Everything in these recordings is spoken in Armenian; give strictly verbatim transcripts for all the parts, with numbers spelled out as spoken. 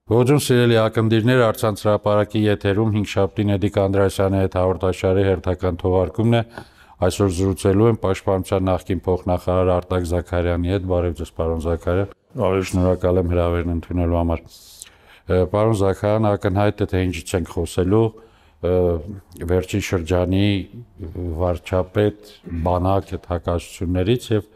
Ողջույն սիրելի ակնդիրներ, առցանց հրապարակի եթերում հինգշաբթի Նեդիկ Անդրեասյանի հետ հաղորդաշարի հերթական թողարկումն է։ Այսօր զրուցելու եմ Պաշտպանության նախկին փոխնախարար Արտակ Զաքարյանի հետ։ Բարև ձեզ, պարոն Զաքարյան։ Բարև, շնորհակալ եմ հրավերն ընդունելու համար։ Պարոն Զաքարյան, ակնհայտ է, թե ինչից ենք խոսելու վերջին շրջանի վարչապետ բանակ այդ հակասություններից եւ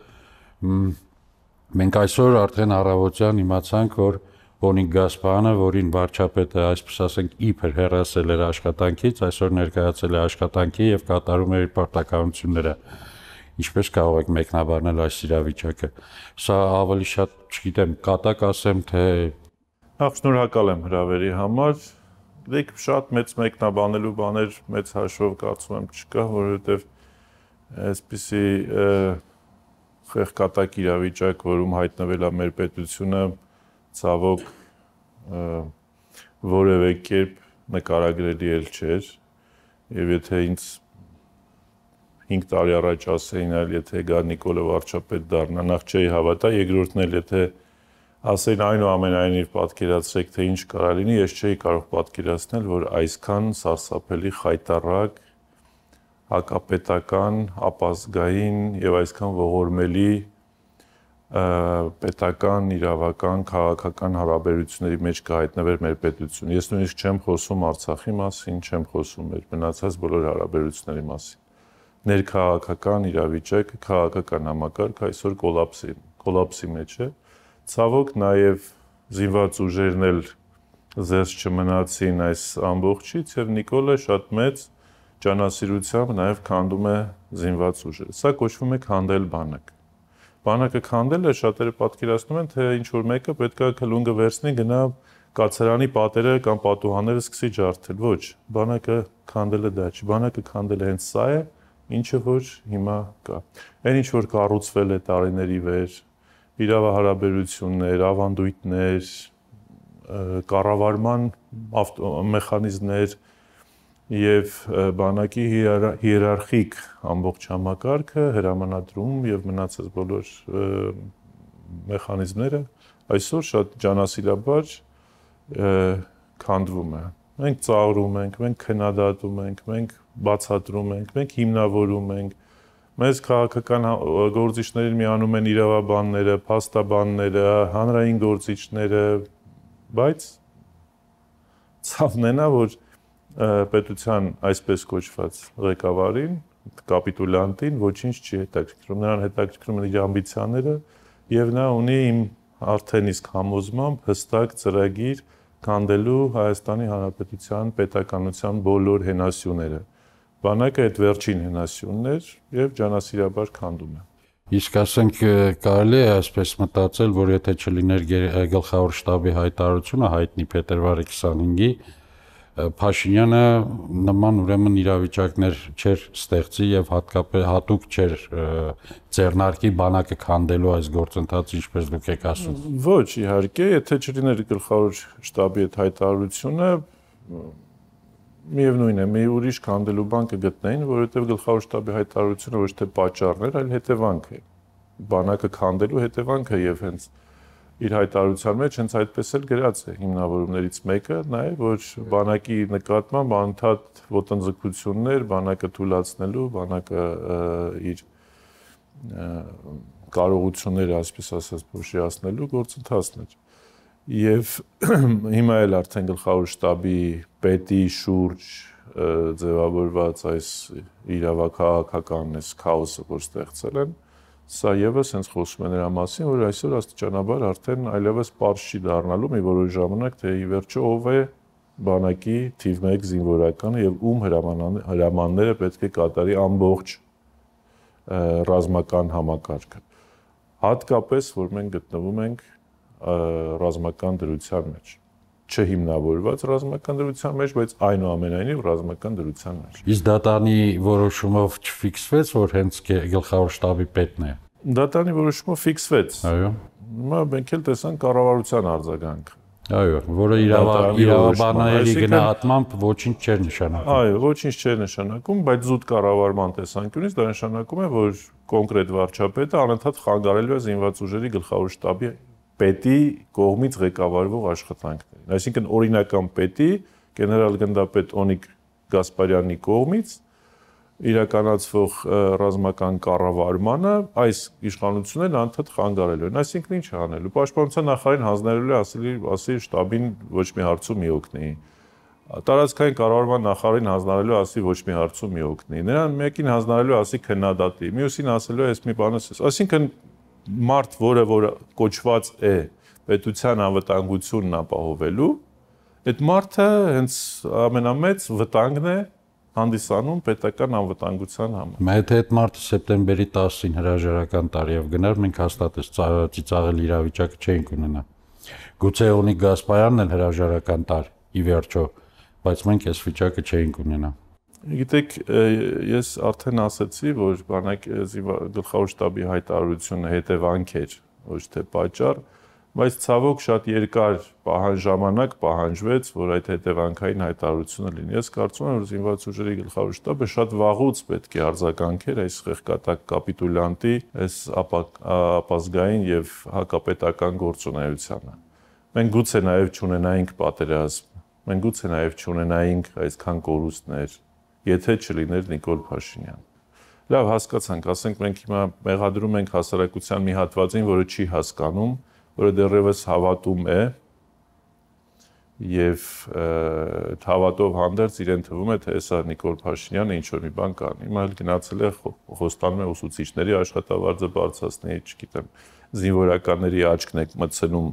մենք այսօր արդեն առավոտյան իմացանք, որ Պոնիկ Գասպարյանը, որին վարչապետը, այսպես ասենք, իբր հեռացել էր աշխատանքից, այսօր ներկայացել է աշխատանքի եւ կատարում է իր պարտականությունները։ Ինչպես կարող եք մեկնաբանել այս իրավիճակը։ Սա ավելի շատ, չգիտեմ, կատակ ասեմ, թե Նախ շնորհակալ եմ հրավերի համար։ Դեք շատ մեծ մեկնաբանելու բաներ մեծ հաշվով կարծում եմ չկա, որովհետեւ այսպիսի խեղկատակ իրավիճակ, որում հայտնվել է մեր պետությունը, ցավոք որևէ կերպ նկարագրելի էլ չէր, եւ եթե ինձ հինգ տարի առաջ ասեին, այլ եթե գա Նիկոլը վարչապետ դառնա, նախ չէի հավատա, երկրորդն էլ եթե ասեին այնուամենայնիվ պատկերացրեք, թե ինչ կարա լինի, ես չէի կարող պատկերացնել, որ այսքան սարսափելի խայտառակ, հակապետական, ապազգային եւ այսքան ողորմելի պետական, իրավական, քաղաքական հարաբերությունների մեջ կհայտնվեր մեր պետությունը։ Ես նույնիսկ չեմ խոսում Արցախի մասին, չեմ խոսում մեր մնացած բոլոր հարաբերությունների մասին։ Ներքաղաքական իրավիճակը, քաղաքական համակարգը այսօր կոլապսի, կոլապսի մեջ է։ Ցավոք նաև զինված ուժերն էլ զերծ չմնացին այս ամբողջից եւ Նիկոլը շատ մեծ ջանասիրությամբ նաև քանդում է զինված ուժերը։ Սա կոչվում է քանդել բանակ։ Բանակը քանդելը շատերը պատկերացնում են, թե ինչ որ մեկը պետք է քլունգը վերցնի, գնա կացարանի պատերը կամ պատուհանները սկսի ջարդել։ Ոչ, բանակը քանդելը դա չի։ Բանակը քանդելը հենց սա է, ինչը որ հիմա կա։ Այն ինչ որ կառուցվել է տարիների վեր, իրավահարաբերություններ, ավանդույթներ, կառավարման մեխանիզմներ եւ բանակի հիերարխիկ ամբողջ համակարգը, հրամանադրում եւ մնացած բոլոր մեխանիզմները այսօր շատ ջանասիրաբար քանդվում է։ Մենք ծաղրում ենք, մենք քննադատում ենք, մենք բացատրում ենք, մենք հիմնավորում ենք։ Մեզ քաղաքական գործիչներին միանում են իրավաբանները, փաստաբանները, հանրային գործիչները, բայց ցավն է նա, որ պետության այսպես կոչված ղեկավարին, կապիտուլյանտին ոչինչ չի հետաքրքրում, նրան հետաքրքրում են իր ամբիցիաները եւ նա ունի իմ արդեն իսկ համոզմամբ հստակ ծրագիր քանդելու Հայաստանի Հանրապետության պետականության բոլոր հենասյուները։ Բանակը այդ վերջին հենասյունն էր եւ ջանասիրաբար քանդում է։ Իսկ ասենք կարելի է այսպես մտածել, որ եթե չլիներ գլխավոր շտաբի հայտարարությունը հայտնի փետրվարի քսանհինգի, Փաշինյանը նման ուրեմն իրավիճակներ չէր ստեղծի եւ հատկապես հատուկ չէր ձեռնարկի բանակը քանդելու այս գործընթացը, ինչպես դուք եք ասում։ Ոչ, իհարկե, եթե չլիներ գլխավոր շտաբի այդ հայտարարությունը, միևնույն է, մի ուրիշ քանդելու բան կգտնեին, որովհետեւ գլխավոր շտաբի հայտարարությունը ոչ թե պատճառն էր, այլ հետևանք է։ Բանակը քանդելու հետևանքը եւ հենց իր հայտարարության մեջ հենց այդպես էլ գրած է հիմնավորումներից մեկը, նա է, որ բանակի նկատմամբ անընդհատ ոտնձգություններ, բանակը թույլատնելու, բանակը իր կարողությունները, այսպես ասած, փոշիացնելու գործընթացն էր։ Եվ հիմա էլ արդեն գլխավոր շտաբի պետի շուրջ ձևավորված այս իրավաքաղաքական այս քաոսը, որ ստեղծել են, սա եւս հենց խոսում է նրա մասին, որ այսօր աստիճանաբար արդեն այլևս պարզ չի դառնալու մի որոշ ժամանակ, թե ի վերջո ով է բանակի թիվ մեկ զինվորականը եւ ում հրամանները պետք է կատարի ամբողջ ռազմական համակարգը։ Հատկապես, որ մենք գտնվում ենք ռազմական դրության մեջ, չհիմնավորված ռազմական դրության մեջ, բայց այնուամենայնիվ ռազմական դրության մեջ։ Իսկ դատանի որոշումով չֆիքսվեց, որ հենց գլխավոր շտաբի պետն է։ Դատանի որոշումով ֆիքսվեց։ Այո։ Հիմա մենք էլ տեսանք կառավարության արձագանքը։ Այո, որը իրավաբանների գնահատմամբ ոչինչ չէր նշանակում։ Այո, ոչինչ չէր նշանակում, բայց զուտ կառավարման տեսանկյունից դա նշանակում է, որ կոնկրետ վարչապետը անընդհատ խանգարելու է զինված ուժերի գլխավոր շտաբի պետի կողմից ղեկավարվող աշխատանքներին։ Այսինքն օրինական պետի գեներալ գնդապետ Օնիկ Գասպարյանի կողմից իրականացվող ռազմական կառավարմանը այս իշխանություններն անդադ խանգարելու են։ Այսինքն ինչ անելու։ Պաշտպանության նախարարին հանձնարարելու է ասելի ասի շտաբին ոչ մի հարցում մի օգնի։ Տարածքային կառավարման նախարարին հանձնարարելու ասի ոչ մի հարցում մի օգնի։ Նրան մեկին հանձնարարելու ասի քննադատի, մյուսին ասելու է այս մի բանը։ Այսինքն մարդ, որը որ կոչված է պետության անվտանգությունն ապահովելու, այդ մարդը հենց ամենամեծ վտանգն է հանդիսանում պետական անվտանգության համար։ Եթե այդ մարդը սեպտեմբերի տասին հրաժարական տարիով գնար, մենք հաստատես ծիծաղել իրավիճակը չէինք ունենա։ Գուցե Օնիկ Գասպարյանն էլ հրաժարական տար, ի վերջո, բայց մենք այս վիճակը չէինք ունենա։ Գիտեք, ես արդեն ասացի, որ բանակի գլխավոր շտաբի հայտարարությունը հետևանք էր, ոչ թե պատճառ, բայց ցավոք շատ երկար պահանջ ժամանակ պահանջվեց, որ այդ հետևանքային հայտարարությունը լինի։ Ես կարծում եմ, որ զինված ուժերի գլխավոր շտաբը շատ վաղուց պետք է արձագանքեր այս խեղկատակ կապիտուլյանտի, այս ապազգային եւ հակապետական գործունեությանը։ Մենք գուցե նաեւ չունենայինք պատերազմ, մենք գուցե նաեւ չունենայինք այսքան կորուստներ, եթե չլիներ Նիկոլ Փաշինյան։ Լավ, հասկացանք, ասենք մենք հիմա մեղադրում ենք հասարակության մի հատվածին, որը չի հասկանում, որը դեռևս հավատում է եւ հավատով հանդերձ իրեն թվում է, թե հեսա Նիկոլ Փաշինյանը ինչ-որ մի բան կանի։ Հիմա էլ գնացել է խոստանում է ուսուցիչների աշխատավարձը բարձրացնի, չգիտեմ, զինվորականների աչքն է մտցնում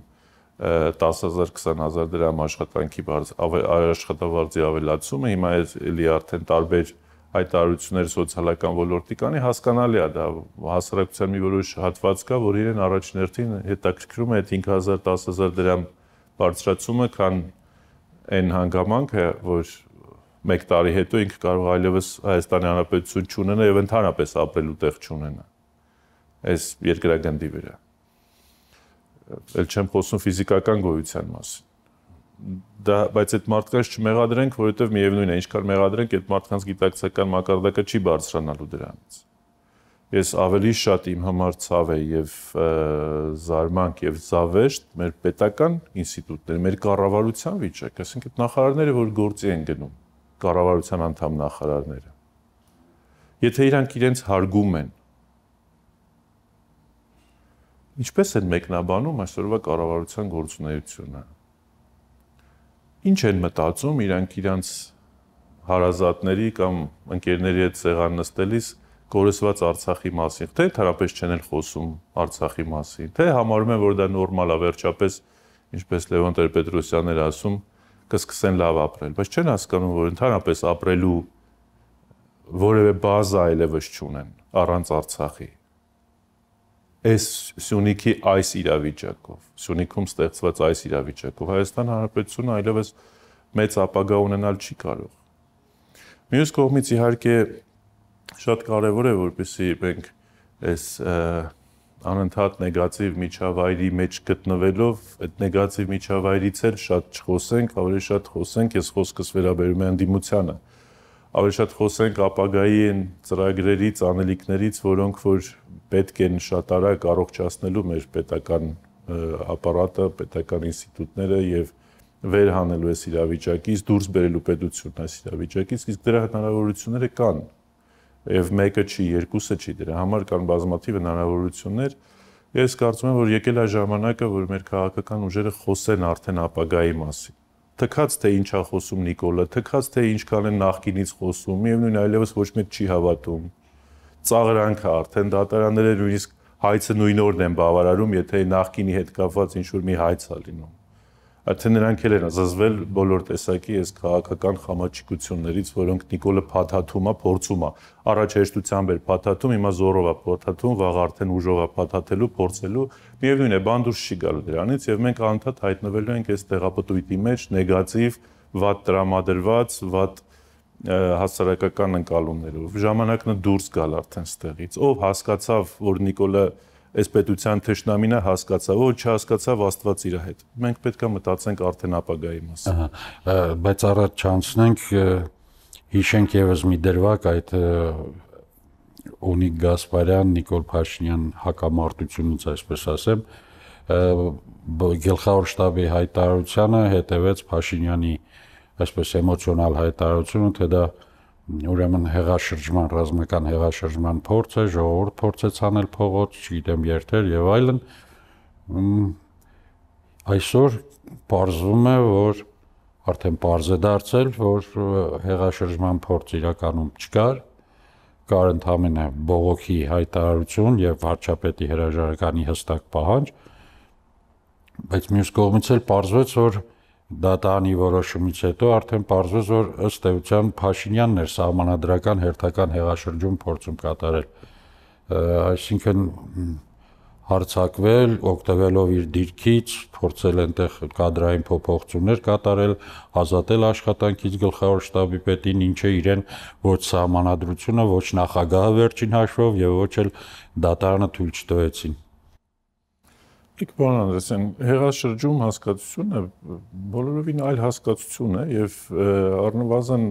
տասը հազար քսան հազար դրամ աշխատանքի աշխատավարձի ավելացումը, հիմա էլի արդեն տարբեր հայտարարություններ սոցիալական ոլորտի կանի, հասկանալի է դա, հասարակության մի որոշ հատված կա, որ իրեն առաջին հերթին հետաքրքրում է այդ հինգ հազար տասը հազար դրամ բարձրացումը, քան այն հանգամանքը, որ մեկ տարի հետո ինքը կարող այլևս Հայաստանի Հանրապետություն չունենա եւ ընդհանրապես ապրելու տեղ չունենա այս երկրագնդի վրա։ Էլ չեմ խոսում ֆիզիկական գոյության մասին։ Դա, բայց այդ մարդկանց չմեղադրենք, որովհետև միևնույն է, ինչքան մեղադրենք, այդ մարդկանց գիտակցական մակարդակը չի բարձրանալու դրանից։ Ես ավելի շատ իմ համար ցավ է եւ զարմանք եւ զավեշտ մեր պետական ինստիտուտները, մեր կառավարության վիճակը, այսինքն նախարարները, որ գործի են գնում, կառավարության անդամ նախարարները։ Եթե իրանք իրենց հարգում են, ինչպես են մեկնաբանում այսօրվա կառավարության գործունեությունը։ Ինչ են մտածում իրանք իրանց հարազատների կամ ընկերների հետ սեղան նստելիս կորսված Արցախի մասին, թե ընդհանրապես չեն էլ խոսում Արցախի մասին, թե համարում են, որ դա նորմալ է, վերջապես, ինչպես Լևոն Տեր-Պետրոսյանն էր ասում, կսկսեն լավ ապրել, բայց չեն հասկանում, որ ընդհանրապես ապրելու որևէ բազա այլևս չունեն առանց Արցախի։ Այս Սյունիքի այս իրավիճակով, Սյունիքում ստեղծված այս իրավիճակով Հայաստան Հանրապետությունը այլևս մեծ ապագա ունենալ չի կարող։ Մյուս կողմից իհարկե շատ կարևոր է, որպեսզի մենք այս անընդհատ նեգատիվ միջավայրի մեջ գտնվելով, այդ նեգատիվ միջավայրից էլ շատ չխոսենք, ավելի շատ խոսենք, ես խոսքս վերաբերում եմ ընդդիմությանը, ավելի շատ խոսենք ապագայի ծրագրերից, անելիքներից, որոնք որ պետք են շատ արագ առողջացնելու մեր պետական ապարատը, պետական ինստիտուտները եւ վեր հանելու այս իրավիճակից, դուրս բերելու պետությունն այս իրավիճակից, իսկ դրա հնարավորությունները կան։ Եվ մեկը չի, երկուսը չի, դրա համար կան բազմաթիվ հնարավորություններ։ Ես կարծում եմ, որ եկել է ժամանակը, որ մեր քաղաքական ուժերը խոսեն արդեն ապագայի մասին։ Թքած թե ինչա խոսում Նիկոլը, թքած թե ինչքան են նախկինից խոսում, միևնույն այլևս ոչ մեկ չի հավատում։ Ծաղրանքը արդեն դատարանները նույնիսկ հայցը նույն օրն են բավարարում, եթե նախկինի հետ կապված ինչ-որ մի հայց է լինում։ Արդեն նրանք էլ են զզվել բոլոր տեսակի այս քաղաքական խամաչիկություններից, որոնք Նիկոլը փաթաթում է, փորձում է։ Առաջ հեշտությամբ էր փաթաթում, հիմա զորով է փաթաթում, վաղ արդեն ուժով է փաթաթելու, փորձելու։ Միևնույն է, բան դուրս չի գալու դրանից, եւ մենք անդադ հայտնվելու ենք այս տեղապտույտի մեջ, նեգատիվ, վատ տրամադրված, վատ հասարակական ընկալումներով։ Ժամանակն է դուրս գալ արդեն ստեղից։ Ով հասկացավ, որ Նիկոլը այս պետության թշնամին է, հասկացավ, ով չհասկացավ, Աստված իր հետ։ Մենք պետք է մտածենք արդեն ապագայի մասին։ Ահա, բայց առաջ չանցնենք, հիշենք եւս մի դրվագ այդ Օնիկ Գասպարյան, Նիկոլ Փաշինյան հակամարտությունից, այսպես ասեմ, գլխավոր շտաբի հայտարարությանը հետևեց Փաշինյանի այսպես էմոցիոնալ հայտարարությունը, թե դա ուրեմն հեղաշրջման, ռազմական հեղաշրջման փորձ է, ժողովուրդ փորձեց անել փողոց, չգիտեմ, երթեր եւ այլն։ Այսօր պարզվում է, որ արդեն պարզ է դարձել, որ հեղաշրջման փորձ իրականում չկար, կար ընդհանրապես բողոքի հայտարարություն եւ վարչապետի հրաժարականի հստակ պահանջ, բայց մյուս կողմից էլ պարզվեց, որ դատարանի որոշումից հետո արդեն պարզվեց, որ ըստ էության Փաշինյանն էր սահմանադրական հերթական հեղաշրջում փորձում կատարել, այսինքն հարձակվել, օգտվելով իր դիրքից, փորձել այնտեղ կադրային փոփոխություններ կատարել, ազատել աշխատանքից գլխավոր շտաբի պետին, ինչը իրեն ոչ սահմանադրությունը, ոչ նախագահը վերջին հաշվով եւ ոչ էլ դատարանը թույլ չտվեցին։ Իք բան Անդրեսյան, հեղաշրջում հասկացությունը բոլորովին այլ հասկացություն է եւ առնվազն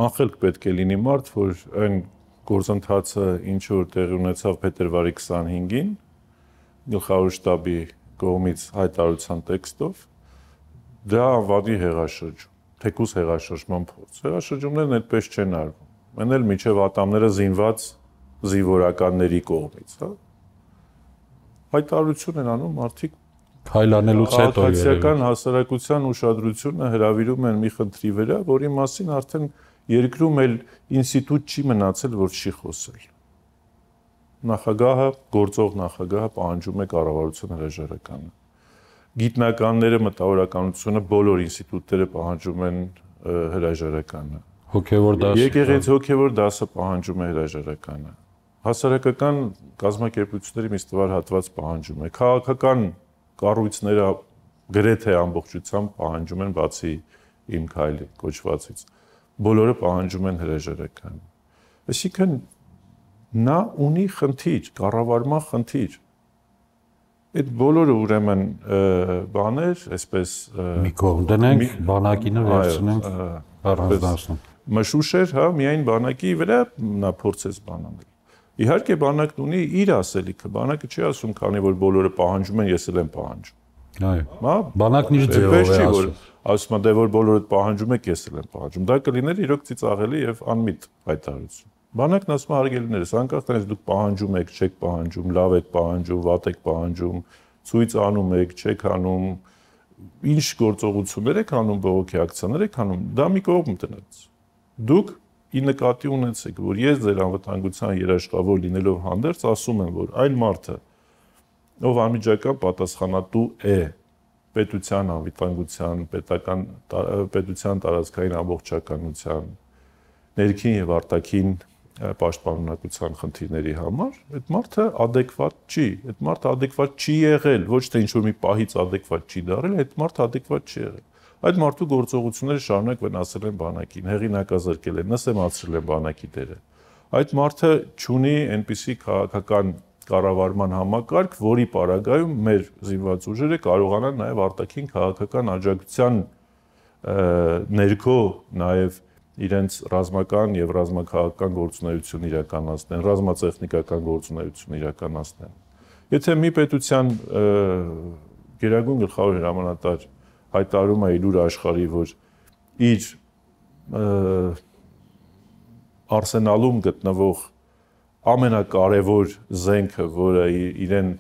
անխելք պետք է լինի մարդ, որ այն գործընթացը ինչ որ տեղի ունեցավ փետրվարի քսանհինգին գլխավոր շտաբի կողմից հայտարարության տեքստով դա անվանի հեղաշրջում, թեկուզ հեղաշրջման փորձ։ Հեղաշրջումներն այդպես չեն արվում։ Մեն էլ միջև ատամները զինված զինվորականների կողմից, հա։ Հայտարարություն են անում մարդիկ քայլանելուց հետո քաղաքացիական հասարակության ուշադրությունը հրավիրում են մի խնդրի վրա, որի մասին արդեն երկրում էլ ինստիտուտ չի մնացել, որ չի խոսել։ Նախագահը, գործող նախագահը պահանջում է կառավարության հրաժարականը։ Գիտնականները, մտավորականությունը, բոլոր ինստիտուտները պահանջում են հրաժարականը։ Հոգևոր դասը։ Եկեղեցի հոգևոր դասը պահանջում է հրաժարականը։ Հասարակական կազմակերպությունների մի ստվար հատված պահանջում է։ Քաղաքական կառույցները գրեթե ամբողջությամբ պահանջում են բացի իմ քայլի կոչվածից։ Բոլորը պահանջում են հրաժարական։ Այսինքն նա ունի խնդիր, կառավարման խնդիր։ Այդ բոլորը ուրեմն բաներ, այսպես մի կողմ դնենք, բանակինը վերցնենք առանձնացնենք։ Մշուշեր, հա, միայն բանակի վրա նա փորձեց բան անել։ Իհարկե բանակն ունի իր ասելիքը, բանակը չի ասում, քանի որ բոլորը պահանջում են, ես էլ եմ պահանջում։ Այո։ Բանակն իր ձևով է ասում։ Ասում է, դե որ բոլորը պահանջում եք, ես էլ եմ պահանջում։ Դա կլիներ իրոք ծիծաղելի եւ անմիտ հայտարարություն։ Բանակն ասում է, հարգելիներս, անկախ դրանից դուք պահանջում եք, չեք պահանջում, լավ եք պահանջում, վատ եք պահանջում, ցույց անում եք, չեք անում, ինչ գործողություններ եք անում, բողոքի ակցիաներ եք անում, դա մի կողմ տնեց։ Դուք ի նկատի ունեցեք, որ ես ձեր անվտանգության երաշխավոր լինելով հանդերձ ասում եմ, որ այլ մարդը, ով անմիջական պատասխանատու է պետության անվտանգության, պետական պետության տարածքային ամբողջականության, ներքին եւ արտաքին պաշտպանունակության խնդիրների համար, այդ մարդը adekvat չի, այդ մարդը adekvat չի եղել, ոչ թե ինչ-որ մի պահից adekvat չի դարել, այդ մարդը adekvat չի եղել։ Այդ մարդու գործողությունները շարունակ վնասել են բանակին, հեղինակազրկել են, նսեմացրել են բանակի դերը։ Այդ մարդը չունի այնպիսի քաղաքական կառավարման համակարգ, որի պարագայում մեր զինված ուժերը կարողանան նաև արտաքին քաղաքական աջակցության ներքո նաև իրենց ռազմական եւ ռազմաքաղաքական գործունեություն իրականացնեն, ռազմատեխնիկական գործունեություն իրականացնեն։ Եթե մի պետության գերագույն գլխավոր հրամանատար հայտարարում է իր աշխարհի, որ իր արսենալում գտնվող ամենակարևոր զենքը, որը իրեն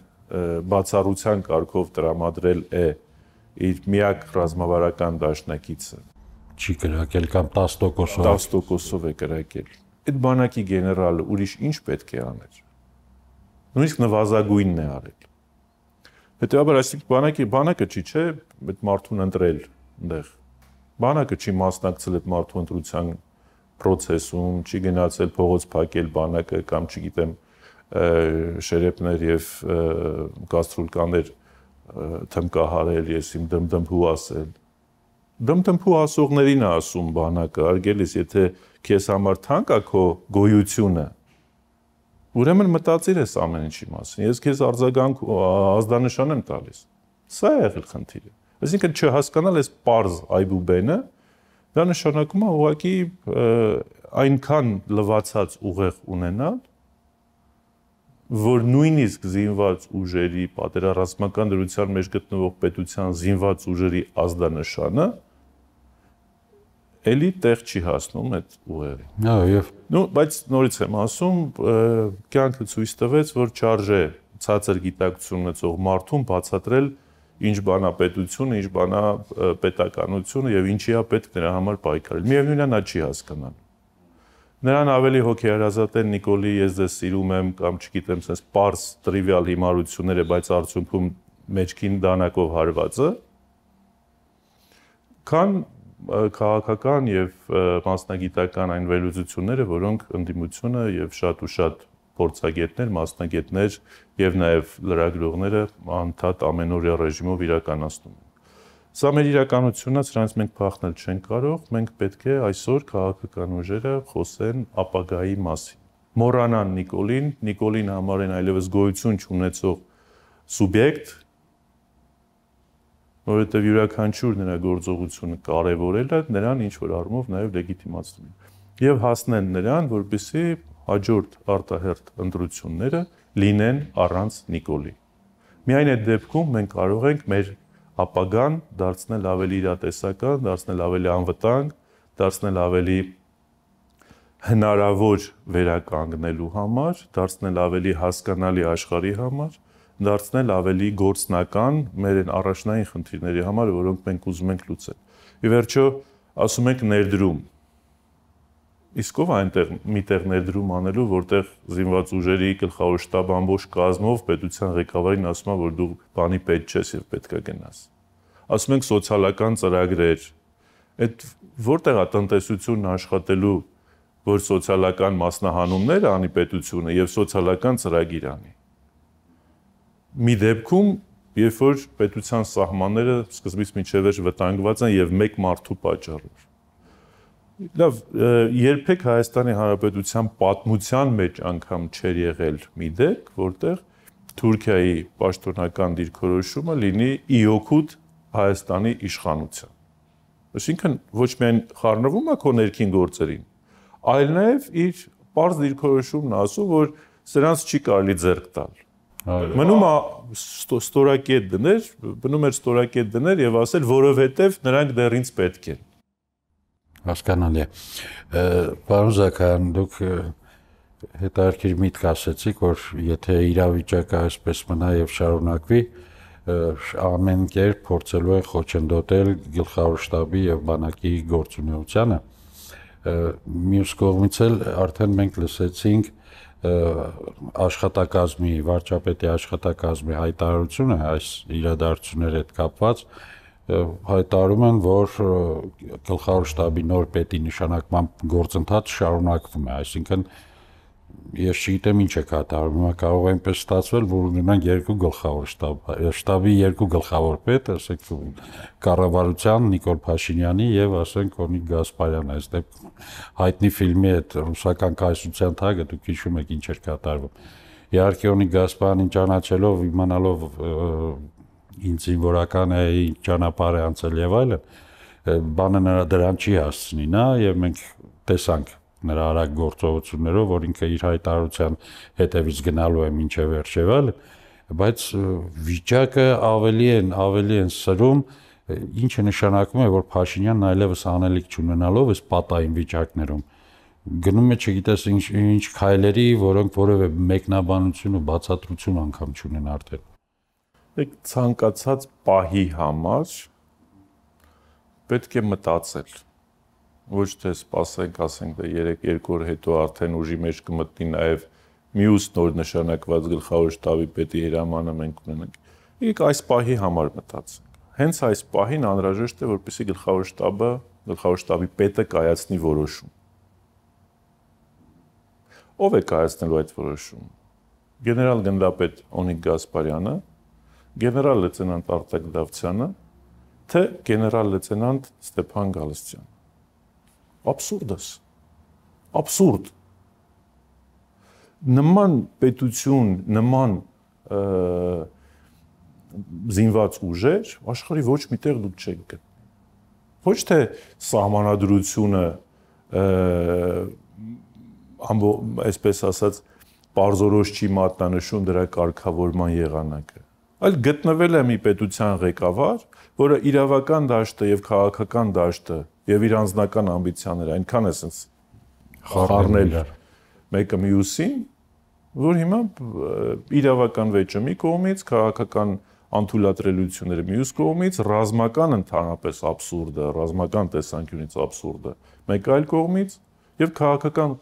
բացառության կարգով տրամադրել է իր միակ ռազմավարական դաշնակիցը, չի կրակել կամ տասը տոկոսով տասը տոկոսով է կրակել։ Այդ բանակի գեներալը ուրիշ ինչ պետք է աներ։ Նույնիսկ նվազագույնն է արել։ Հետևաբար այսինքն բանակի բանակը չի, չէ, այդ մարդուն ընտրել այնտեղ։ Բանակը չի մասնակցել այդ մարդու ընտրության process-ում, չի գնացել փողոց փակել բանակը կամ չգիտեմ շերեփներ եւ գաստրոլկաներ թմկահարել, ես իմ դմդմփու ասել։ Դմդմփու ասողներին է ասում բանակը, արգելիս, եթե քեզ համար թանկ է քո գոյությունը, ուրեմն մտածիր ես ամեն ինչի մասին։ Ես քեզ արձագանք ազդանշան եմ տալիս։ Սա է եղել խնդիրը։ Այսինքն չհասկանալ այս պարզ այբուբենը, դա նշանակում է ուղղակի այնքան լվացած ուղեղ ունենալ, որ նույնիսկ զինված ուժերի պատերազմական դրության մեջ գտնվող պետության զինված ուժերի ազդանշանը էլի տեղ չի հասնում այդ ուղեղին։ Հա, եւ նո, բայց նորից եմ ասում, կյանքը ցույց տվեց, որ չարժե ցածր գիտակցություն ունեցող մարդուն բացատրել ինչ բանա պետությունը, ինչ բանա պետականությունը եւ ինչի է պետք նրա համար պայքարել։ Միևնույնն է, նա չի հասկանալ։ Նրան ավելի հոգեհարազատ են Նիկոլի, ես ձեզ սիրում եմ կամ չգիտեմ, sense պարզ տրիվիալ հիմարությունները, բայց արդյունքում մեջքին դանակով հարվածը, քան քաղաքական եւ մասնագիտական այն վերլուծությունները, որոնք ընդդիմությունը եւ շատ ու շատ փորձագետներ, մասնագետներ եւ նաեւ լրագրողները անդադ ամենօրյա ռեժիմով իրականացնում են։ Սա մեր իրականությունն է, սրանից մենք փախնել չենք կարող, մենք պետք է այսօր քաղաքական ուժերը խոսեն ապագայի մասին։ Մոռանան Նիկոլին, Նիկոլին համարեն այլևս գոյություն չունեցող սուբյեկտ, որովհետև յուրաքանչյուր նրա գործողությունը կարևորելը նրան ինչ որ առումով նաև լեգիտիմացնում է։ Եվ հասնեն նրան, որպեսզի հաջորդ արտահերթ ընտրությունները լինեն առանց Նիկոլի։ Միայն այդ դեպքում մենք կարող ենք մեր ապագան դարձնել ավելի իրատեսական, դարձնել ավելի անվտանգ, դարձնել ավելի հնարավոր վերականգնելու համար, դարձնել ավելի հասկանալի աշխարհի համար, դարձնել ավելի գործնական մեր այն առաջնային խնդիրների համար, որոնք մենք ուզում ենք լուծել։ Ի վերջո, ասում ենք ներդրում։ Իսկ ով այնտեղ միտեղ ներդրում անելու, որտեղ զինված ուժերի գլխավոր շտաբ ամբողջ կազմով պետության ղեկավարին ասում է, որ դու բանի պետ չես եւ պետք է գնաս։ Ասում ենք սոցիալական ծրագրեր, այդ որտեղ է տնտեսությունն աշխատելու, որ սոցիալական մասնահանումներ անի պետությունը եւ սոցիալական ծրագիր անի։ Մի դեպքում, երբ որ պետության սահմանները սկզբից մինչև վերջ վտանգված են եւ մեկ մարդու պատճառով։ Լավ, երբեք Հայաստանի Հանրապետության պատմության մեջ անգամ չէր եղել մի դեպք, որտեղ Թուրքիայի պաշտոնական դիրքորոշումը լինի ի օգուտ Հայաստանի իշխանության։ Այսինքն ոչ միայն խառնվում է քո ներքին գործերին, այլ նաև իր պարզ դիրքորոշումն ասում, որ սրանց չի կարելի ձեռք տալ։ Մնում է ստորակետ դներ, մնում էր ստորակետ դներ եւ ասել, որովհետեւ նրանք դեռ ինձ պետք են։ Հասկանալի է։ Պարոն Զաքարյան, դուք հետաքրքիր միտք ասեցիք, որ եթե իրավիճակը այսպես մնա եւ շարունակվի, ամեն կերպ փորձելու են խոչընդոտել գլխավոր շտաբի եւ բանակի գործունեությանը։ Մյուս կողմից էլ արդեն մենք լսեցինք աշխատակազմի, վարչապետի աշխատակազմի հայտարարությունը այս իրադարձությունների հետ կապված, հայտարարում են, որ գլխավոր շտաբի նոր պետի նշանակման գործընթացը շարունակվում է, այսինքն ես չգիտեմ ինչ է կատարվում, կարող է այնպես ստացվել, որ ունենանք երկու գլխավոր շտաբ, շտաբի երկու գլխավոր պետ, ասենք կառավարության Նիկոլ Փաշինյանի եւ ասենք Օնիկ Գասպարյանը, այս դեպքում հայտնի ֆիլմի այդ ռուսական կայսրության թագը դուք հիշում եք ինչ էր կատարվում։ Իհարկե Օնիկ Գասպարյանին ճանաչելով, իմանալով ինձ զինվորական է, ճանապարհ է անցել եւ այլն, բանը նրա դրան չի հասցնի նա եւ մենք տեսանք նրա արագ գործողություններով, որ ինքը իր հայտարարության հետևից գնալու է մինչև վերջ եւ այլն, բայց վիճակը ավելի են, ավելի են սրում, ինչը նշանակում է, որ Փաշինյանն այլևս անելիք չունենալով այս պատային վիճակներում գնում է, չգիտես ինչ ինչ քայլերի, որոնք որևէ մեկնաբանություն ու բացատրություն անգամ չունեն արդեն։ Դեք ցանկացած պահի համար պետք է մտածել։ Ոչ թե սպասենք, ասենք դե երեք երկու օր հետո արդեն ուժի մեջ կմտնի նաև մյուս նոր նշանակված գլխավոր շտաբի պետի հրամանը մենք ունենանք։ Եկեք այս պահի համար մտածենք։ Հենց այս պահին անհրաժեշտ է, որպեսզի գլխավոր շտաբը, գլխավոր շտաբի պետը կայացնի որոշում։ Ով է կայացնելու այդ որոշումը։ Գեներալ գնդապետ Օնիկ Գասպարյանը, գեներալ լեյտենանտ Արտակ Դավթյանը, թե գեներալ լեյտենանտ Ստեփան Գալստյանը։ Абսուրդս, абսուրդ։ Նման պետություն, նման զինված ուժեր աշխարհի ոչ միտեղ դուք չեք գտնի։ Ոչ թե սահմանադրությունը, այսպես ասած, պարզորոշ չի մատնանշում դրա կարգավորման եղանակը, այլ գտնվել է մի պետության ղեկավար, որը իրավական դաշտը եւ քաղաքական դաշտը եւ իր անձնական ամբիցիաները այնքան է sense խառնել մեկը մյուսին, որ հիմա իրավական վեճը մի կողմից, քաղաքական անթույլատրելիությունները մյուս կողմից, ռազմական ընդհանրապես աբսուրդը, ռազմական տեսանկյունից աբսուրդը մեկ այլ կողմից եւ քաղաքական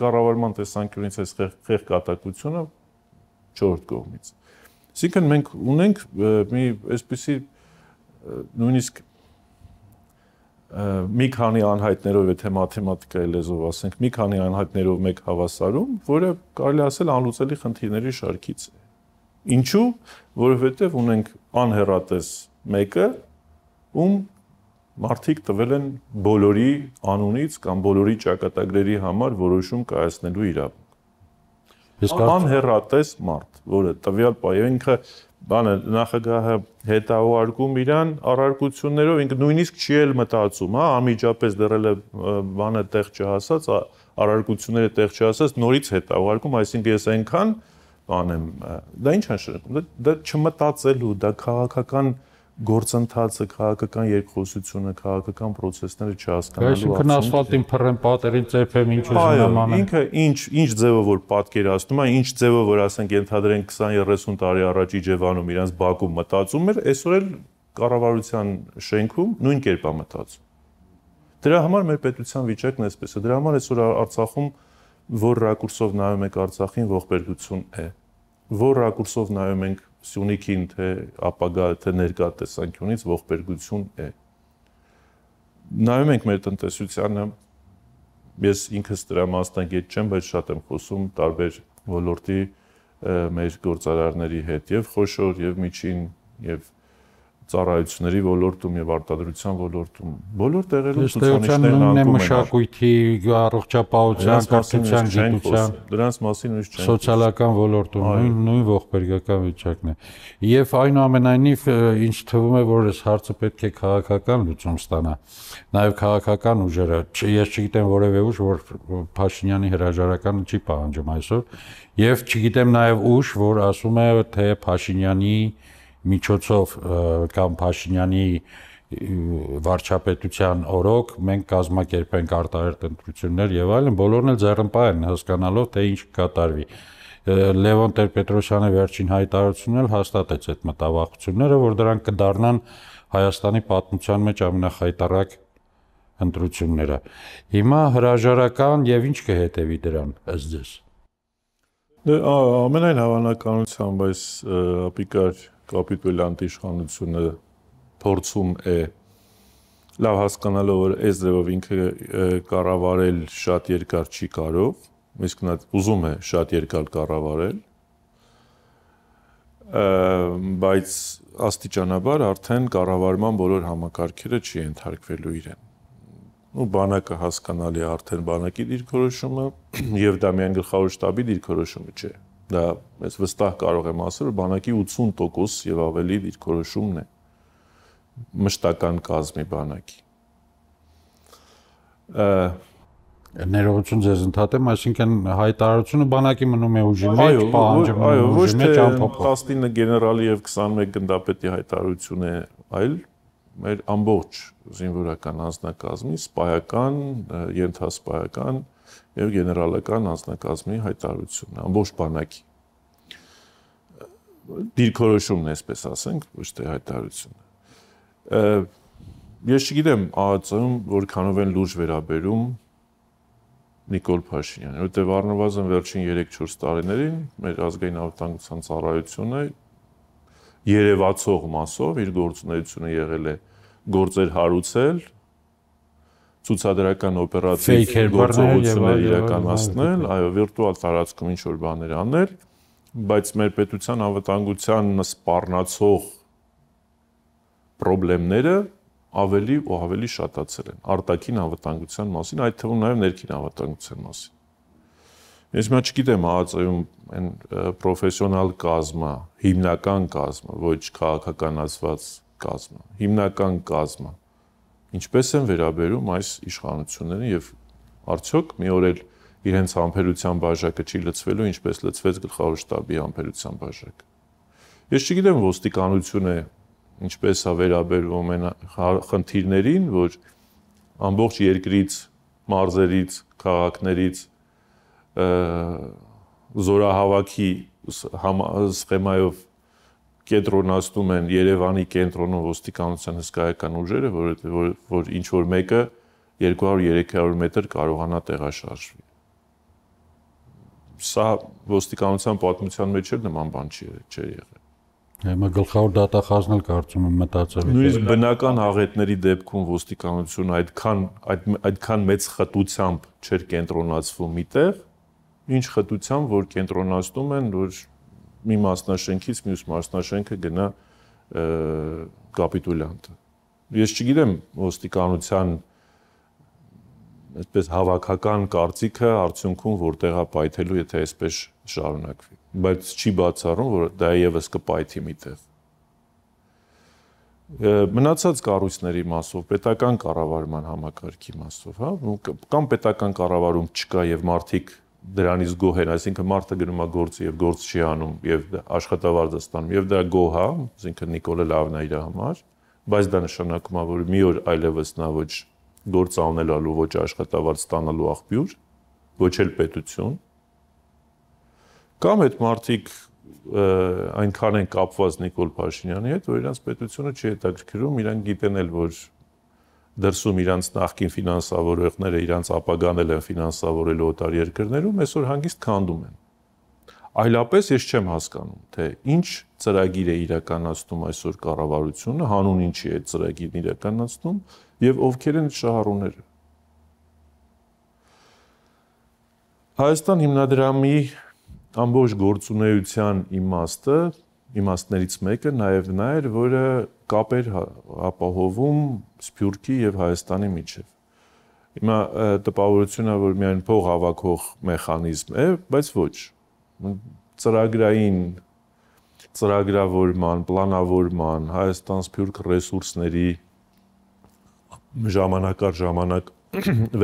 կառավարման տեսանկյունից այս խեղկատակությունը չորրորդ կողմից։ Այսինքն մենք ունենք մի այսպիսի նույնիսկ մի քանի անհայտներով, եթե մաթեմատիկայի լեզվով ասենք, մի քանի անհայտներով մեկ հավասարում, որը կարելի ասել անլուծելի խնդիրների շարքից է։ Ինչու՞, որովհետև ունենք անհեռատես մեկը, ում մարդիկ տվել են բոլորի անունից կամ բոլորի ճակատագրերի համար որոշում կայացնելու իրավունք։ Անհեռատես մարդ, որը տվյալ պայմանքը բանը նախագահը հետաուարկում իրան առարկություններով, ինքը նույնիսկ չի էլ մտածում, հա, անմիջապես դեռ էլ բանը տեղ չհասած, առարկությունները տեղ չհասած, նորից հետաուարկում, այսինքն ես այնքան բան եմ, դա ինչ է նշանակում, դա չմտածելու, դա քաղաքական գործընթացը, քաղաքական երկխոսությունը, քաղաքական process-ները չհասկանալու։ Այսինքն ասֆալտին փռեն, պատերին ծեփեմ, ինչ ուզում եմ անել։ Ինքը ինչ ինչ ձևով որ պատկերացնում է, ինչ ձևով որ ասենք ենթադրենք քսան երեսուն տարի առաջ Իջևանում իրանց Բաքվում մտածում էր, այսօր էլ կառավարության շենքում նույն կերպ է մտածում։ Դրա համար մեր պետության վիճակն էսպես է։ Դրա համար այսօր Արցախում որ ռակուրսով նայում եք Արցախին, ողբերգություն է։ Որ ռակուրսով նայում ենք Սյունիքին, թե ապագա, թե ներկա տեսանկյունից ողբերգություն է։ Նայում ենք մեր տնտեսությանը, ես ինքս դրա մասնագետ չեմ, բայց շատ եմ խոսում տարբեր ոլորտի մեր գործարարների հետ, եւ խոշոր, եւ միջին, եւ ծառայությունների ոլորտում եւ արտադրության ոլորտում բոլոր տեղերում ցուցանիշներն անկում են մշակույթի, առողջապահության, կրթության, գիտության, դրանց մասին ուրիշ չենք սոցիալական ոլորտում նույն նույն ողբերգական վիճակն է։ Եվ այնուամենայնիվ ինչ թվում է, որ այս հարցը պետք է քաղաքական լուծում ստանա։ Նաեւ քաղաքական ուժերը, ես չգիտեմ որևէ ուժ, որ Փաշինյանի հրաժարականը չի պահանջում այսօր, եւ չգիտեմ նաեւ ուժ, որ ասում է, թե Փաշինյանի միջոցով կամ Փաշինյանի վարչապետության օրոք մենք կազմակերպենք արտահերթ ընտրություններ եւ այլն, բոլորն էլ ձեռնպահ են հասկանալով թե ինչ կկատարվի։ Լևոն Տեր-Պետրոսյանը վերջին հայտարարությունն էլ հաստատեց այդ մտավախությունները, որ դրանք կդառնան Հայաստանի պատմության մեջ ամենախայտառակ ընտրությունները։ Հիմա հրաժարական եւ ինչ կհետեւի դրան ըստ ձեզ։ Դե ամենայն հավանականությամբ այս ապիկար կապիտուլյանտ իշխանությունը փորձում է լավ հասկանալով որ այս ձևով ինքը կառավարել շատ երկար չի կարող, իսկ նա ուզում է շատ երկար կառավարել, բայց աստիճանաբար արդեն կառավարման բոլոր համակարգերը չի ենթարկվելու իրեն։ Ու բանակը հասկանալի է արդեն բանակի դիրքորոշումը եւ դա միայն գլխավոր շտաբի դիրքորոշումը չէ։ Դա ես վստահ կարող եմ ասել, որ բանակի ութսուն տոկոս եւ ավելի դիրքորոշումն է մշտական կազմի բանակի։ Ներողություն ձեզ ընդհատեմ, այսինքն հայտարարությունը բանակի մնում է ուժի մեջ, պահանջում է ուժի մեջ ամփոփ։ տասնինը գեներալի եւ քսանմեկ գնդապետի հայտարարություն է, այլ մեր ամբողջ զինվորական անձնակազմի սպայական, ենթասպայական եւ գեներալական անձնակազմի հայտարարությունն է, ամբողջ բանակի։ Դիրքորոշումն է, այսպես ասենք, ոչ թե հայտարարությունը։ Ես չգիտեմ ԱԱԾ-ում որքանով են լուրջ վերաբերում Նիկոլ Փաշինյանը, որտեղ առնվազն վերջին երեք-չորս տարիներին մեր ազգային անվտանգության ծառայությունը երևացող մասով իր գործունեությունը եղել է գործեր հարուցել, ցուցադրական օպերատիվ գործողություններ իրականացնել, այո, վիրտուալ տարածքում ինչ որ բաներ անել, բայց մեր պետության անվտանգության սպառնացող խնդիրները ավելի ու ավելի շատացել են արտաքին անվտանգության մասին, այդ թվում նաև ներքին անվտանգության մասին։ Ես մա չգիտեմ ԱԱԾ-ում այն պրոֆեսիոնալ կազմը, հիմնական կազմը, ոչ քաղաքականացված կազմը, հիմնական կազմը, ինչպես են վերաբերում այս իշխանություններին եւ արդյոք մի օր էլ իրենց համբերության բաժակը չի լցվելու, ինչպես լցվեց գլխավոր շտաբի համբերության բաժակը։ Ես չգիտեմ ոստիկանությունը ինչպես է վերաբերվում այն խնդիրներին, որ ամբողջ երկրից, մարզերից, քաղաքներից զորահավաքի սխեմայով կենտրոնացնում են Երևանի կենտրոնում ոստիկանության հսկայական ուժերը, որ, որ, որ ինչ որ մեկը երկու հարյուր երեք հարյուր մետր կարողանա տեղաշարժվի։ Սա ոստիկանության պատմության մեջ էլ նման բան չի եղել։ Հիմա գլխավոր դատախազն էլ կարծում եմ մտածել է։ Նույնիսկ բնական աղետների դեպքում ոստիկանությունը այդքան այդ այդքան մեծ խտությամբ չէր կենտրոնացվում միտեղ, ինչ խտությամբ որ կենտրոնացնում են, որ մի մասնաշենքից մյուս մասնաշենքը գնա կապիտուլյանտը։ Ես չգիտեմ ոստիկանության այսպես հավաքական կարծիքը արդյունքում որտեղ է պայթելու, եթե այսպես շարունակվի, բայց չի բացառում, որ դա եւս կպայթի միտեղ։ Մնացած կառույցների մասով, պետական կառավարման համակարգի մասով, հա, կամ պետական կառավարում չկա եւ մարդիկ դրանից գոհ են, այսինքն մարդը գնում է գործի եւ գործ չի անում եւ աշխատավարձ է ստանում եւ դա գոհ է, այսինքն Նիկոլը լավն է իր համար, բայց դա նշանակում է, որ մի օր այլևս նա ոչ գործ անելու, ոչ աշխատավարձ ստանալու աղբյուր, ոչ էլ պետություն, կամ այդ մարդիկ այնքան են կապված Նիկոլ Փաշինյանի հետ, որ իրանց պետությունը չի հետաքրքրում, իրանք գիտեն էլ, որ դրսում իրանց նախկին ֆինանսավորողները իրանց ապագան էլ են ֆինանսավորելու օտար երկրներում, այսօր հանգիստ քանդում են։ Այլապես ես չեմ հասկանում, թե ինչ ծրագիր է իրականացնում այսօր կառավարությունը, հանուն ինչի է այդ ծրագիրն իրականացնում եւ ովքեր են շահառուները։ Հայաստան հիմնադրամի ամբողջ գործունեության իմաստը, իմաստներից մեկը նաեւ նա էր, որը կապեր ապահովում Սփյուռքի եւ Հայաստանի միջեւ։ Հիմա տպավորությունն է, որ միայն փող հավաքող մեխանիզմ է, բայց ոչ։ Ծրագրային ծրագրավորման, պլանավորման, Հայաստան-Սփյուռք ռեսուրսների ժամանակ առ ժամանակ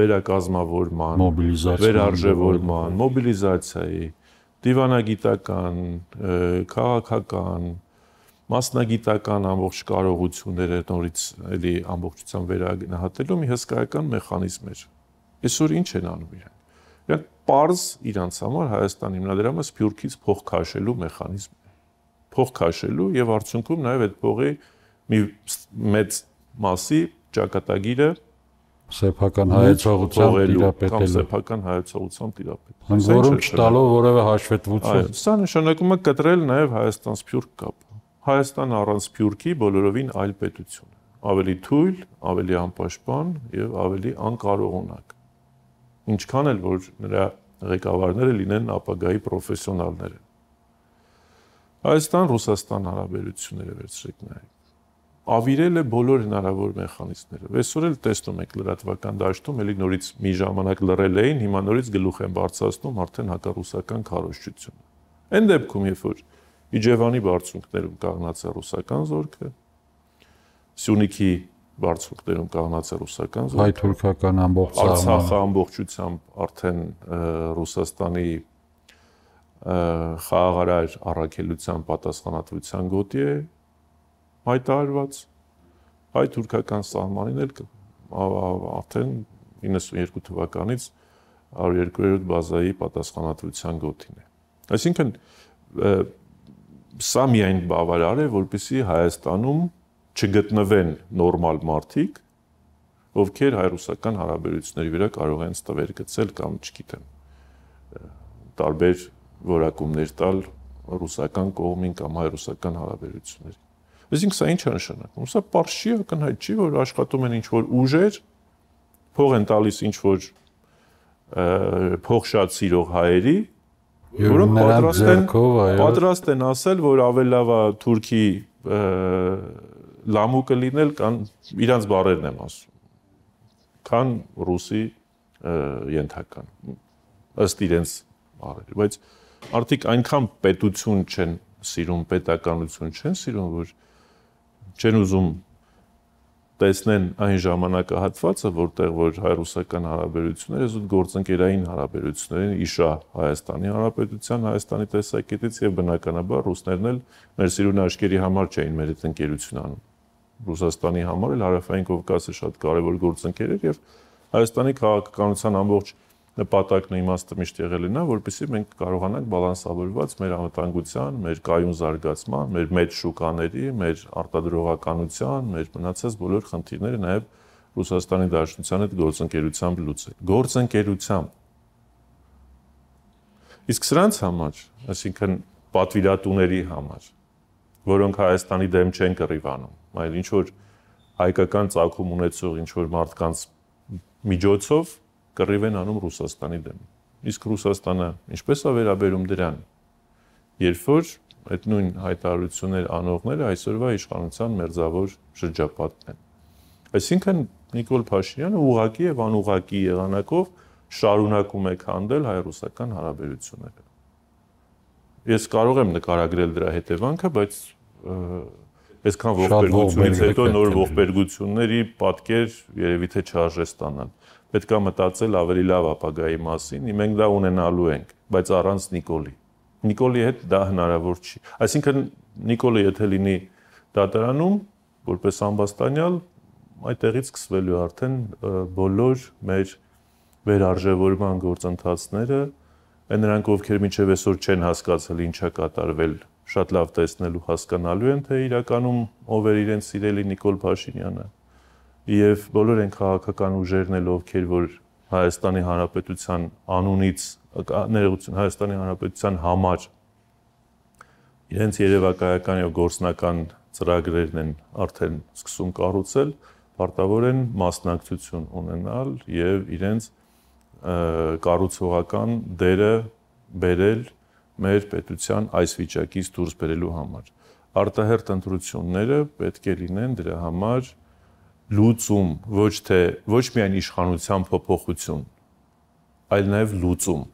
վերակազմավորման, վերարժևորման, մոբիլիզացիայի, դիվանագիտական, քաղաքական, մասնագիտական ամբողջ կարողությունները նորից էլի ամբողջությամբ վերագնահատելու մի հսկայական մեխանիզմ էր։ Այսօր ինչ են անում իրենք։ Իրանք պարզ իրանց համար Հայաստան հիմնադրամը Սփյուռքից փող քաշելու մեխանիզմ է։ Փող քաշելու եւ արդյունքում նաեւ այդ փողի մի մեծ մասի ճակատագիրը սեփական հայեցողությամբ տիրապետելու կամ սեփական հայեցողությամբ տիրապետելու։ Ընդ որում չտալով որևէ հաշվետվություն։ Այո, սա նշանակում է կտրել նաեւ Հայաստան-Սփյուռք կապը։ Հայաստան առանց Սփյուռքի բոլորովին այլ պետություն է, ավելի թույլ, ավելի անպաշտպան եւ ավելի անկարողունակ։ Ինչքան էլ որ նրա ղեկավարները լինեն ապագայի պրոֆեսիոնալներ։ Հայաստան-Ռուսաստան հարաբերությունները վերցրեք նաեւ։ Ավիրել է բոլոր հնարավոր մեխանիզմները։ Այսօր էլ տեսնում եք լրատվական դաշտում, էլի նորից մի ժամանակ լռել էին, հիմա նորից գլուխ են բարձրացնում արդեն հակառուսական քարոզչությունը։ Այն դեպքում, երբ որ Իջևանի բարձունքներում կանգնած է ռուսական զորքը, Սյունիքի բարձունքներում կանգնած է ռուսական զորքը, հայ-թուրքական ամբողջ Արցախը ամբողջությամբ արդեն Ռուսաստանի խաղաղարար առաքելության պատասխանատվության գոտի է հայտարարված, հայ-թուրքական սահմանին էլ արդեն իննսունյերկու թվականից հարյուր երկու բազայի պատասխանատվության գոտին է։ Այսինքն սա միայն բավարար է, որպեսզի Հայաստանում չգտնվեն նորմալ մարդիկ, ովքեր հայ-ռուսական հարաբերությունների վրա կարող են ստվեր գցել կամ, չգիտեմ, տարբեր որակումներ տալ ռուսական կողմին կամ հայ-ռուսական հարաբերություններին։ Այսինքն սա ինչ է նշանակում։ Սա պարզ չի, ակնհայտ չի, որ աշխատում են ինչ-որ ուժեր, փող են տալիս ինչ-որ փող շատ սիրող հայերի, որոնք պատրաստ են պատրաստ են ասել, որ ավելի լավ է Թուրքի լամուկը լինել, կան իրանց բառերն եմ ասում, քան ռուսի ենթական, ըստ իրենց բառերի, բայց արդիկ այնքան պետություն չեն սիրում, պետականություն չեն սիրում, որ չեն ուզում տեսնեն այն ժամանակահատվածը, որտեղ որ հայ-ռուսական հարաբերությունները զուտ գործընկերային հարաբերություններ են իշա Հայաստանի Հանրապետության, Հայաստանի տեսակետից եւ բնականաբար ռուսներն էլ մեր սիրուն աշկերի համար չէին մեր հետ ընկերություն անում։ Ռուսաստանի համար էլ Հարավային Կովկասը շատ կարևոր գործընկեր էր եւ Հայաստանի քաղաքականության ամբողջ նպատակն ու իմաստը միշտ եղել է նա, որպեսզի մենք կարողանանք բալանսավորված մեր անվտանգության, մեր կայուն զարգացման, մեր մեծ շուկաների, մեր արտադրողականության, մեր մնացած բոլոր խնդիրները նաև Ռուսաստանի Դաշնության հետ գործընկերությամբ լուծել։ Գործընկերությամբ։ Իսկ սրանց համար, այսինքն պատվիրատուների համար, որոնք Հայաստանի դեմ չեն կռիվանում, այլ ինչ որ հայկական ծագում ունեցող ինչ որ մարդկանց միջոցով կռիվ են անում Ռուսաստանի դեմ։ Իսկ Ռուսաստանը ինչպես է վերաբերում դրան, երբ որ այդ նույն հայտարարություններ անողները այսօրվա իշխանության մերձավոր շրջապատն են։ Այսինքն Նիկոլ Փաշինյանը ուղղակի եւ անուղղակի եղանակով շարունակում է քանդել հայ-ռուսական հարաբերությունները։ Ես կարող եմ նկարագրել դրա հետևանքը, բայց այսքան ողբերգությունից հետո նոր ողբերգությունների պատկեր երևի թե չարժե ստանալ։ Պետք է մտածել ավելի լավ ապագայի մասին, մենք դա ունենալու ենք, բայց առանց Նիկոլի։ Նիկոլի հետ դա հնարավոր չի։ Այսինքն Նիկոլը եթե լինի դատարանում, որպես ամբաստանյալ, այդտեղից սկսվելու արդեն բոլոր մեր վերարժևորման գործընթացները, այն նրանք, ովքեր մինչև այսօր չեն հասկացել ինչա կատարվել, շատ լավ տեսնելու հասկանալու են, թե իրականում ով էր իրենց սիրելի Նիկոլ Փաշինյանը։ Եվ բոլոր են քաղաքական ուժերն էլ, ովքեր որ Հայաստանի Հանրապետության անունից, ներողություն, Հայաստանի Հանրապետության համար իրենց երևակայական եւ գործնական ծրագրերն են արդեն սկսում կառուցել, պարտավոր են մասնակցություն ունենալ եւ իրենց կառուցողական դերը բերել մեր պետության այս վիճակից դուրս բերելու համար։ Արտահերթ ընտրությունները պետք է լինեն դրա համար լուծում, ոչ թե ոչ միայն իշխանության փոփոխություն, այլ նաև լուծում։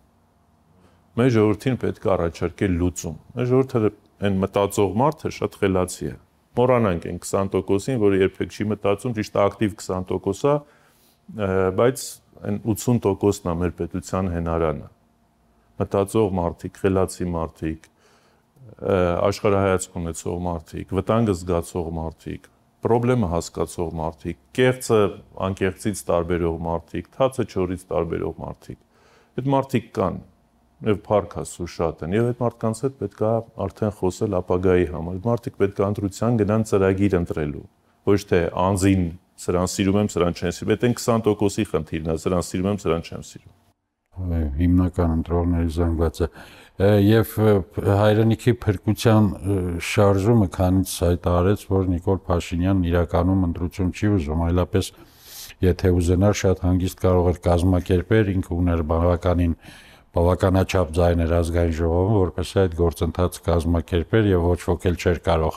Մեր ժողովրդին պետք է առաջարկել լուծում։ Մեր ժողովուրդը այն մտածող մարդը շատ խելացի է։ Մոռանանք այն քսան տոկոսին, որը երբեք չի մտածում, ճիշտ է ակտիվ քսան տոկոս է, բայց այն ութսուն տոկոսն է մեր պետության հենարանը։ Մտածող մարդիկ, խելացի մարդիկ, աշխարհայացք ունեցող մարդիկ, վտանգը զգացող մարդիկ, պրոբլեմը հասկացող մարդիկ, կեղծը անկեղծից տարբերող մարդիկ, թացը չորից տարբերող մարդիկ։ Այդ մարդիկ կան եւ փառք Աստծո շատ են եւ այդ մարդկանց հետ պետք է արդեն խոսել ապագայի համար։ Մարդիկ պետք է ընտրության գնան ծրագիր ընտրելու, ոչ թե անձին սրան սիրում եմ, սրան չեմ սիրում։ Այդ այն քսան տոկոսի խնդիրն է, սրան սիրում եմ, սրան չեմ սիրում։ Հիմնական ընտրողների զանգվածը եւ հայրենիքի փրկության շարժումը քանից հայտարարեց, որ Նիկոլ Փաշինյանն իրականում ընտրություն չի ուզում, այլապես եթե ուզենար շատ հանգիստ կարող էր կազմակերպել, ինքը ուներ բավականին բավականաչափ ձայներ ազգային ժողովում, որպեսզի այդ գործընթացը կազմակերպեր եւ ոչ ոք էլ չէր կարող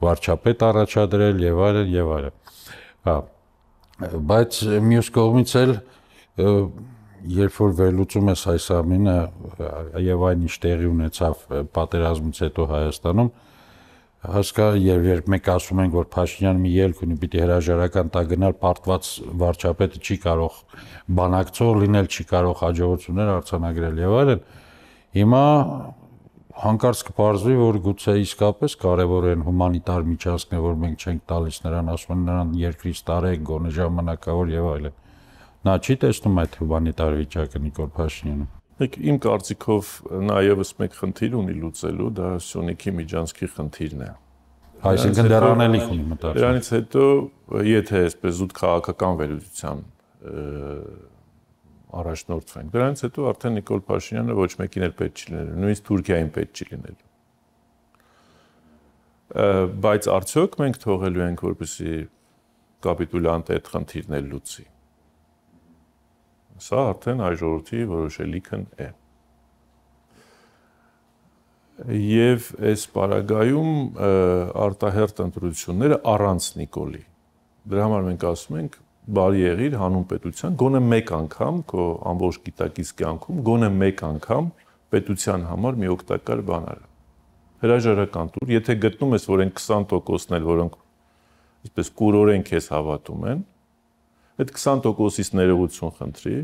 վարչապետ առաջադրել եւ այլն եւ այլն։ Հա, բայց մյուս կողմից էլ երբ որ վերլուծում ես այս ամենը եւ այն ինչ տեղի ունեցավ պատերազմից հետո Հայաստանում, հասկա եւ երբ մենք ասում ենք, որ Փաշինյանը մի ելք ունի, պիտի հրաժարական տա գնալ, պարտված վարչապետը չի կարող բանակցող լինել, չի կարող հաջողություններ արձանագրել եւ այլն, հիմա հանկարծ կպարզվի, որ գուցե իսկապես կարևոր են հումանիտար միջանցքներ, որ մենք չենք տալիս նրան, ասում են նրան երկրից տարեք, գոնե ժամանակավոր եւ այլն։ Նա չի տեսնում այդ հումանիտար վիճակը Նիկոլ Փաշինյանը։ Եք իմ կարծիքով նա եւս մեկ խնդիր ունի լուծելու, դա Սյունիքի միջանցքի խնդիրն է։ Այսինքն դեռ անելիք ունի մտածում։ Դրանից հետո, եթե այսպես զուտ քաղաքական վերլուծության առաջնորդվենք, դրանից հետո արդեն Նիկոլ Փաշինյանը ոչ մեկին էլ պետք չի լինելու, նույնիսկ Թուրքիային պետք չի լինելու։ Բայց արդյոք մենք թողելու ենք, որպեսզի կապիտուլյանտը այդ խնդիրն էլ լուծի։ Սա արդեն հայ ժողովրդի որոշելիքն է։ Եվ այս պարագայում արտահերթ ընտրությունները առանց Նիկոլի։ Դրա համար մենք ասում ենք բարի եղիր հանուն պետության, գոնե մեկ անգամ քո ամբողջ գիտակից կյանքում, գոնե մեկ անգամ պետության համար մի օգտակար բան արա։ Հրաժարական տուր, եթե գտնում ես, որ այն քսան տոկոսն էլ, որոնք այսպես կուրորեն քեզ հավատում են, այդ քսան տոկոսից ներողություն խնդրի,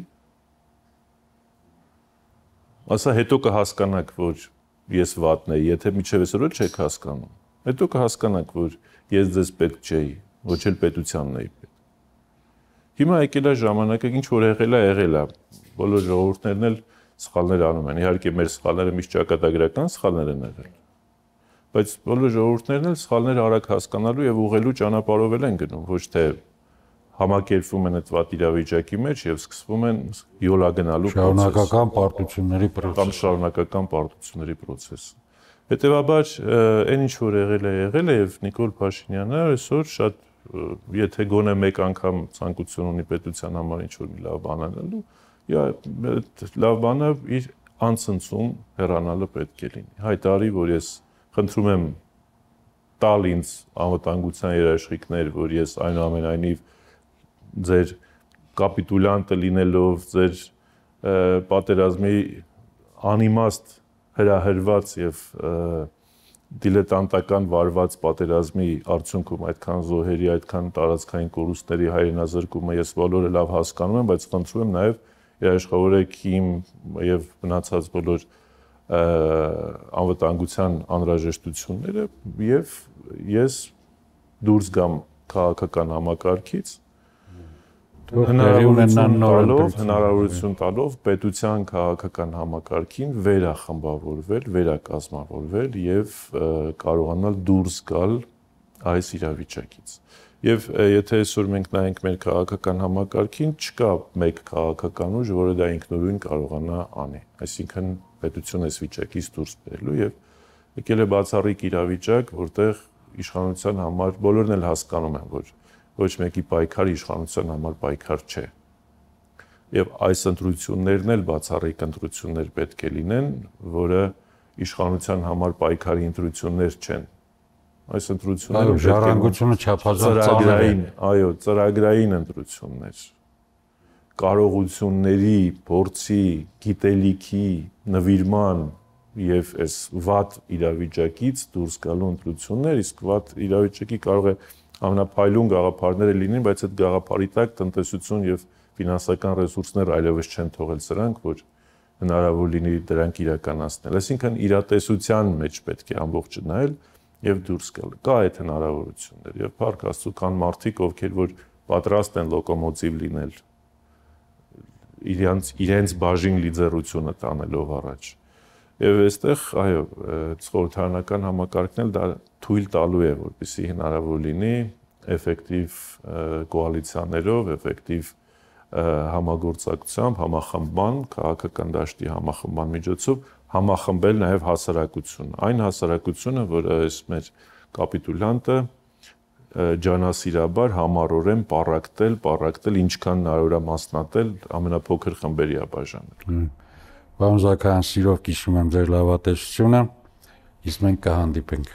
ասա հետո կհասկանաք, որ ես վատն եի, եթե միջև այսօր չեք հասկանում, հետո կհասկանաք, որ ես ձեզ պետք չէի, ոչ էլ պետությանն էի պետք։ Հիմա եկել է ժամանակը, ինչ որ եղել է, եղել է, բոլոր ժողովուրդներն էլ սխալներ անում են, իհարկե մեր սխալները միշտ ճակատագրական սխալներ են եղել, բայց բոլոր ժողովուրդներն էլ սխալները արագ հասկանալու եւ ուղղելու ճանապարհով են գնում, ոչ թե համակերպվում են այդ վատ իրավիճակի մեջ եւ սկսվում են յոլա գնալու շարունակական պարտությունների process կամ շարունակական պարտությունների process։ Հետևաբար, այն ինչ որ եղել է, եղել է եւ Նիկոլ Փաշինյանը այսօր շատ եթե գոնե մեկ անգամ ցանկություն ունի պետության համար ինչ որ մի լավ բան անելու, լավ բանը իր անցնցում հեռանալը պետք է լինի։ Հայտարարի, որ ես խնդրում եմ տալ ինձ անվտանգության երաշխիքներ, որ ես այնուամենայնիվ ձեր կապիտուլյանտը լինելով, ձեր պատերազմի անիմաստ հրահրված եւ դիլետանտական վարված պատերազմի արդյունքում այդքան զոհերի, այդքան տարածքային կորուստների հայրենազրկումը ես բոլորը լավ հասկանում եմ, բայց խնդրում եմ նաեւ երաշխավորեք իմ եւ մնացած բոլոր անվտանգության անհրաժեշտությունները եւ ես դուրս գամ քաղաքական համակարգից հնարավորություն տալով պետության քաղաքական համակարգին վերախմբավորվել, վերակազմավորվել եւ կարողանալ դուրս գալ այս իրավիճակից։ Եվ եթե այսօր մենք նայենք մեր քաղաքական համակարգին, չկա մեկ քաղաքական ուժ, որը դա ինքնուրույն կարողանա անի։ Այսինքն պետությունը այս վիճակից դուրս բերելու եւ եկել է բացառիկ իրավիճակ, որտեղ իշխանության համար բոլորն էլ հասկանում են, որ ոչ մեկի պայքարը իշխանության համար պայքար չէ։ Եվ այս ընտրություններն էլ բացառիկ ընտրություններ պետք է լինեն, որը իշխանության համար պայքարի ընտրություններ չեն։ Այս ընտրությունները ժառանգությունը չափազանց ծանր է, այո, ծրագրային ընտրություններ։ Կարողությունների, փորձի, գիտելիքի, նվիրման եւ այս վատ իրավիճակից դուրս գալու ընտրություններ, իսկ վատ իրավիճակի կարող է ամենափայլուն գաղափարները լինեն, բայց այդ գաղափարի տակ տնտեսություն եւ ֆինանսական ռեսուրսներ այլևս չեն թողել սրանք, որ հնարավոր լինի դրանք իրականացնել։ Այսինքն իրատեսության մեջ պետք է ամբողջը նայել եւ դուրս գալ։ Կա այդ հնարավորություններ եւ փառք Աստծո կան մարդիկ, ովքեր որ պատրաստ են լոկոմոտիվ լինել իրենց իրենց բաժին լիդերությունը տանելով առաջ։ Եվ այստեղ, այո, խորհրդարանական համակարգն էլ դա թույլ տալու է, որպեսզի հնարավոր լինի էֆեկտիվ կոալիցիաներով, էֆեկտիվ համագործակցությամբ, համախմբման, քաղաքական դաշտի համախմբման միջոցով համախմբել նաև հասարակությունը։ Այն հասարակությունը, որը այս մեր կապիտուլյանտը ջանասիրաբար համառորեն պառակտել, պառակտել, ինչքան հնարավոր է մասնատել, ամենափոքր խմբերի է բաժանել։ Պարոն Զաքարյան, սիրով կիսում եմ ձեր լավատեսությունը, իսկ մենք կհանդիպենք